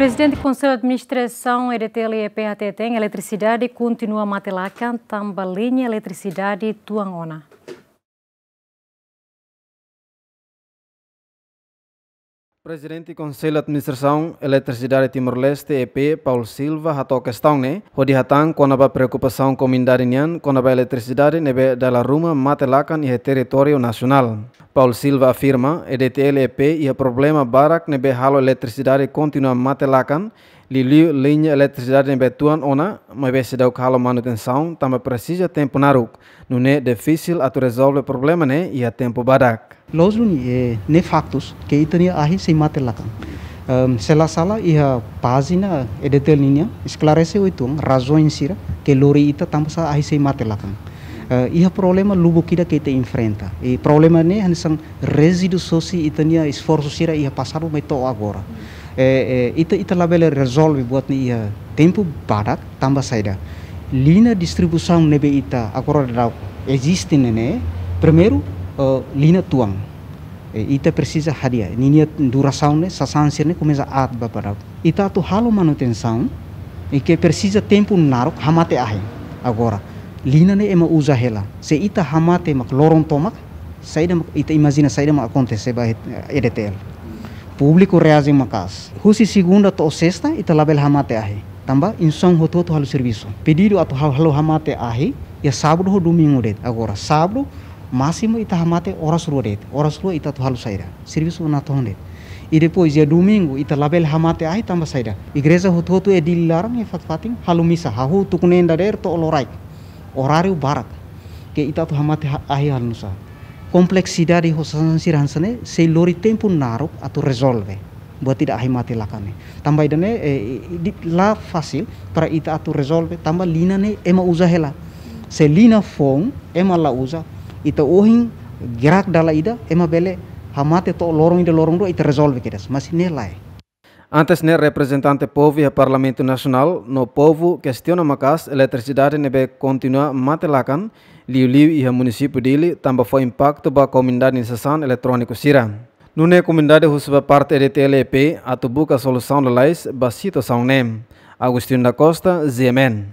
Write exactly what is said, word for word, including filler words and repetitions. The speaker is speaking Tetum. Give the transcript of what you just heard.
Prezidente Konsellu Administrasaun E D T L E P hateten eletrisidade kontinua mate-lakan tanba liña eletrisidade tuan ona. Prezidente Konsellu Administrasaun Eletrisidade Timor-Leste, E P, Paul Silva, hato'o kestaun ne'e hodi hatán kona-ba preokupasaun komunidade nian kona-ba eletrisidade ne'ebé dala ruma mate-lakan iha territóriu nasionál. Paul Silva afirma, E D T L E P iha problema barak ne'ebé halo eletrisidade kontinua mate-lakan, liuliu liña eletrisidade ne'ebé tuan ona, maibé seidauk halo manutensaun tanba presiza tempu naruk. Nune'e difisil atu rezolve problema ne'e iha tempu badak. Loos duni, eh, ne'e faktus ke ita-nia ahi sei mate-lakan. Em, se la sala iha pájina E D T L nian esklarese uitoan razaun sira ke lori ita tanbasá ahi sei mate-lakan. Eh, iha problema lubuk ida ke ita enfrenta. I problema ne'e hanesan rezíduu sosa ita-nia esforsu sira iha pasadu mai to'o agora. Eh, eh, ita, ita labele rezolve buat ne'e iha tempu badak tanba saida. Liña distribuisaun ne'ebé ita agora daudaun eziste ne'e, primeiru, eh, liña tuan. Eh, ita presiza hadi'a. Ninia durasaun ne'e, sasán sira ne'e komesa aat ba daudaun. Ita atu halo manutensaun, i ke presiza tempu naruk hamate ahi. Agora, liña ne'e ema uza hela. Se ita hamate mak loron tomak, saida mak, ita imajina saida mak akontese ba E D T L. Públiku reaji maka'as. Husi segunda to'o sesta, ita labele hamate ahi. Tanba instituisaun hotu-hotu halo servisu. Pedidu atu hal-, halo hamate ahi, iha sábadu ho domingu de'it. Agora, sábadu, másimu ita hamate oras rua de'it. Oras rua ita atu halo saida. Servisu natoon de'it. I depois, iha domingu, ita labele hamate ahi tanba saida. Igreja hotu-hotu iha Dili laran iha fatin-fatin halo misa. Hahú tuku neen dadeer to'o loraik. Oráriu barak. Ke ita atu hamate ha-, ahi halo nu'usá. Kompleksidade ho sasán sira hanesan ne'e, sei lori tempu naruk atu rezolve. Buat ida ahi mate-lakan ne'e. Tanba ida-ne'e, eh, di-, la fasil para ita atu rezolve, tanba liña ne'e ema uza hela. Se liña foun, ema la uza, ita ohin gerak dala ida, ema bele hamate to'o loron ida loron rua, ita rezolve kedas. Mas ne'e lae. Antes ne'e reprezentante povu iha Parlamentu Nasionál no povu kestiona maka'as eletrisidade ne'ebé kontinua mate-lakan, liuliu iha munisípiu Dili, tanba fó impaktu ba komunidade nia sasán eletróniku sira. Nune'e komunidade husu ba parte E D T L E P atu buka solusaun lalais ba situasaun ne'e. Agostinho da Costa, G M N.